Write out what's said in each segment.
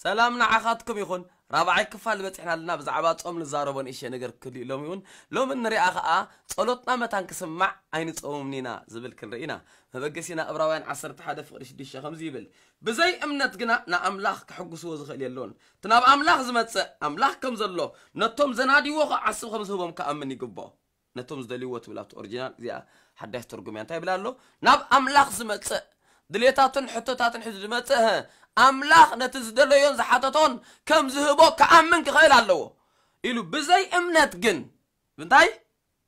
ሰላም ንዓኻትኩም ይኹን። ራብዓይ ክፋል በፂሕና ኣለና። ብዛዕባ ጾም ንዛረቦ ንእሽተይ ነገር ክህሉ እዩ ሎሚ እውን። ሎሚ ንሪኣ ኸዓ ጸሎትና መታን ክስማዕ ኣይንጸውምን ኢና ዝብል ክንርኢ ኢና። መበገሲና ዕብራውያን ዓሰርተ ሓደ ፍቕዲ ሽዱሽተ ከምዚ ይብል፣ ብዘይ እምነት ግና ንኣምላኽ ክሕጉስዎ ዝኽእል የሎን። እቲ ናብ ኣምላኽ ዝመጽእ ኣምላኽ ከም ዘሎ ነቶም ዘናድይዎ ኸዓ ዓስቢ ከም ዝህቦም ክኣምን ይግብኦ። ነቶም ዝደልይዎ ትብል ኣብቲ ኦሪጂናል። እዚኣ ሓዳሽ ትርጉም እያ። እንታይ ይብል ኣሎ? ናብ ኣምላኽ ዝመጽእ ድሌታቱን ሕቶታትን ሒዙ ዝመጽእ ኣምላኽ ነቲ ዝደለዮን ዝሓተቶን ከም ዝህቦ ክኣምን ክኽእል ኣለዎ ኢሉ። ብዘይ እምነት ግን እንታይ?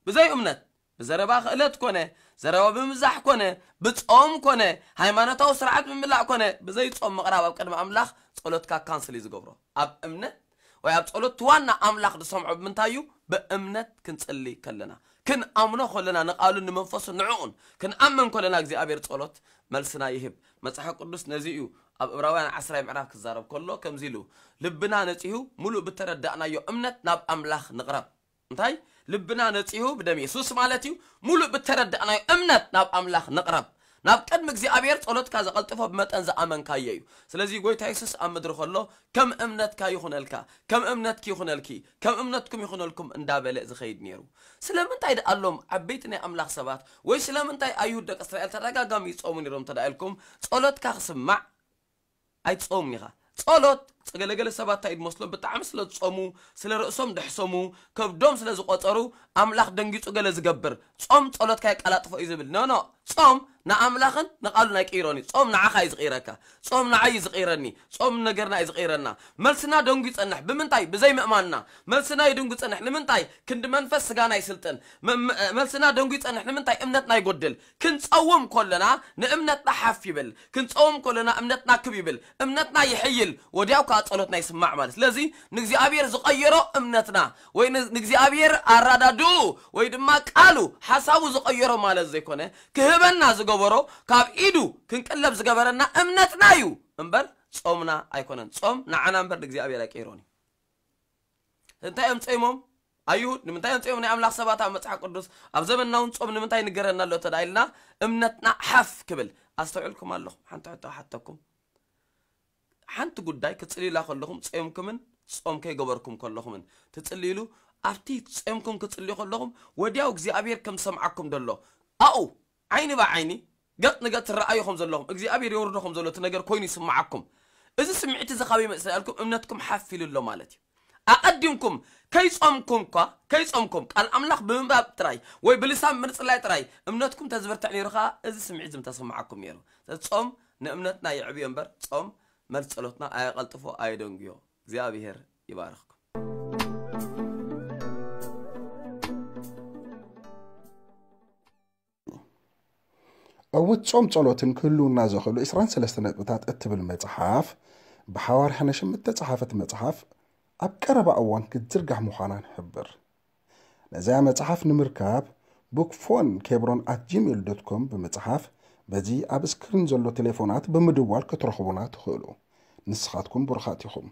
ብዘይ እምነት ብዘረባ ክእለት ኮነ፣ ዘረባ ብምብዛሕ ኮነ፣ ብጾም ኮነ፣ ሃይማኖታዊ ስርዓት ብምምላእ ኮነ፣ ብዘይ ጾም ምቕራብ ኣብ ቅድሚ ኣምላኽ ጸሎትካ ካንስል እዩ ዝገብሮ። ኣብ እምነት ወይ ኣብ ጸሎት ዋና ኣምላኽ ዝሰምዖ ብምንታይ እዩ? ብእምነት ክንጽሊ ከለና፣ ክንኣምኖ ከለና፣ ንቓሉን ንመንፈሱን ንዕኡን ክንኣምን ከለና እግዚኣብሔር ጸሎት መልስና ይህብ። መጽሓፍ ቅዱስ ነዚ እዩ ኣብ ዕብራውያን ዓስራይ ምዕራፍ ክዛረብ ከሎ ከምዚ ኢሉ፣ ልብና ነጺሁ፣ ሙሉእ ብተረዳእናዮ እምነት ናብ ኣምላኽ ንቕረብ። እንታይ? ልብና ነጺሁ ብደም የሱስ ማለት እዩ። ሙሉእ ብተረዳእናዮ እምነት ናብ ኣምላኽ ንቕረብ። ናብ ቅድሚ እግዚኣብሔር ጸሎትካ ዘቐልጥፎ ብመጠን ዝኣመንካዮ እዩ። ስለዚ ጎይታ የሱስ ኣብ ምድሪ ከሎ ከም እምነትካ ይኹነልካ፣ ከም እምነትኪ ይኹነልኪ፣ ከም እምነትኩም ይኹነልኩም እንዳበለ ዝኸይድ ነይሩ። ስለምንታይ ደኣ ኣሎም ዓበይቲ ናይ ኣምላኽ ሰባት ወይ ስለምንታይ ኣይሁድ ደቂ እስራኤል ተደጋጋሚ ይጾሙ ነይሮም እንተ ደኣ ኢልኩም፣ ጸሎትካ ክስማዕ ኣይትጾምን ኢኻ። ጸሎት ገለገለ ሰባት እንታይ እዩ ዝመስሎም? ብጣዕሚ ስለ ዝጾሙ፣ ስለ ርእሶም ደሕሰሙ፣ ከብዶም ስለ ዝቆጸሩ ኣምላኽ ደንጊጹ ገለ ዝገብር፣ ጾም ጸሎትካ የቀላጥፎ እዩ ዝብል። ኖ ኖ፣ ጾም ንኣምላኽን ንቓሉን ኣይቅይሮን እዩ። ጾም ንዓኻ እዩ ዝቕይረካ። ጾም ንዓይ እዩ ዝቕይረኒ። ጾም ነገርና እዩ ዝቕይረና። መልስና ደንጉ ይጸንሕ። ብምንታይ? ብዘይ ምእማንና። መልስና ይድንጉ ይጸንሕ። ንምንታይ? ክንዲ መንፈስ ስጋና ይስልጥን። መ- መ- መልስና ደንጉ ይጸንሕ። ንምንታይ? እምነትና ይጎድል። ክንጸውም ከለና ንእምነትና ሓፍ ይብል። ክንጸውም ከለና እምነትና ክብ ይብል። እምነትና ይሕይል። ወዲያው ከዓ ጸሎትና ይስማዕ ማለት። ስለዚ ንእግዚኣብሔር ዝቐየሮ እምነትና ወይ ን- ንእግዚኣብሔር ኣራዳድኡ ወይ ድማ ቃሉ ሓሳቡ ዝቐየሮ ማለት ዘይኮነ፣ ክህበና ዝገበሮ፣ ካብ ኢዱ ክንቅለብ ዝገበረና እምነትና እዩ እምበር ጾምና ኣይኮነን። ጾም ንዓና እምበር ንእግዚኣብሔር ኣይቀይሮን እዩ። እንታይ እዮም ጾይሞም? ኣይሁድ ንምንታይ እዮም ጾይሞም? ናይ ኣምላኽ ሰባት ኣብ መጽሓፍ ቅዱስ ኣብ ዘመንና እውን ጾም ንምንታይ ይንገረና ኣሎ እንተ ደኣ ኢልና እምነትና ሓፍ ክብል። ኣስተውዕልኩም ኣለኹም? ሓንቲ ሕቶ ክሓተኩም። ሓንቲ ጉዳይ ክጽልዩላ ከለኹም ጾይምኩምን ጾም ከይገበርኩም ከለኹምን ትጽልይሉ፣ ኣብቲ ጾይምኩም ክጽልዩ ከለኹም ወዲያው እግዚኣብሔር ከም ዝሰምዓኩም ደሎ ኣብኡ ዓይኒ ብዓይኒ ገጽ ንገጽ ትረኣዩ ከም ዘለኹም እግዚኣብሔር የውርዶ ከም ዘሎ እቲ ነገር ኮይኑ ይስምዓኩም። እዚ ስምዒት እዚ ካበይ መጽእ ኢልኩም እምነትኩም ሓፍ ኢሉ ኣሎ ማለት እዩ። ኣቐዲምኩም ከይጾምኩም እኳ ከይጾምኩም ቃል ኣምላኽ ብምንባብ ጥራይ ወይ ብልሳን ምጽላይ ጥራይ እምነትኩም ተዝብርትዕ ነይሩ ኸኣ እዚ ስምዒት እዚ ምተሰምዓኩም ነይሩ። ስለዚ ጾም ንእምነትና የዕብዮ እምበር ጾም መልሲ ጸሎትና ኣየቐልጥፎ ኣየደንጉዮ። እግዚኣብሔር ይባርኽኩም። ዕውት ጾም ጸሎትን ክህልውና ዘኽእሉ ዕስራን ሰለስተ ነጥብታት እትብል መጽሓፍ፣ ብሓዋርያ ሐነሽም እተጻሓፈት መጽሓፍ፣ ኣብ ቀረባ እዋን ክትዝርጋሕ ምዃና ንሕብር። ነዚኣ መጽሓፍ ንምርካብ፣ bookphone kebron at gmail dot com ብምጽሓፍ፣ በዚ ኣብ ስክሪን ዘሎ ቴሌፎናት ብምድዋል ክትረኽቡና ትኽእሉ። ንስኻትኩም ብሩኻት ኢኹም።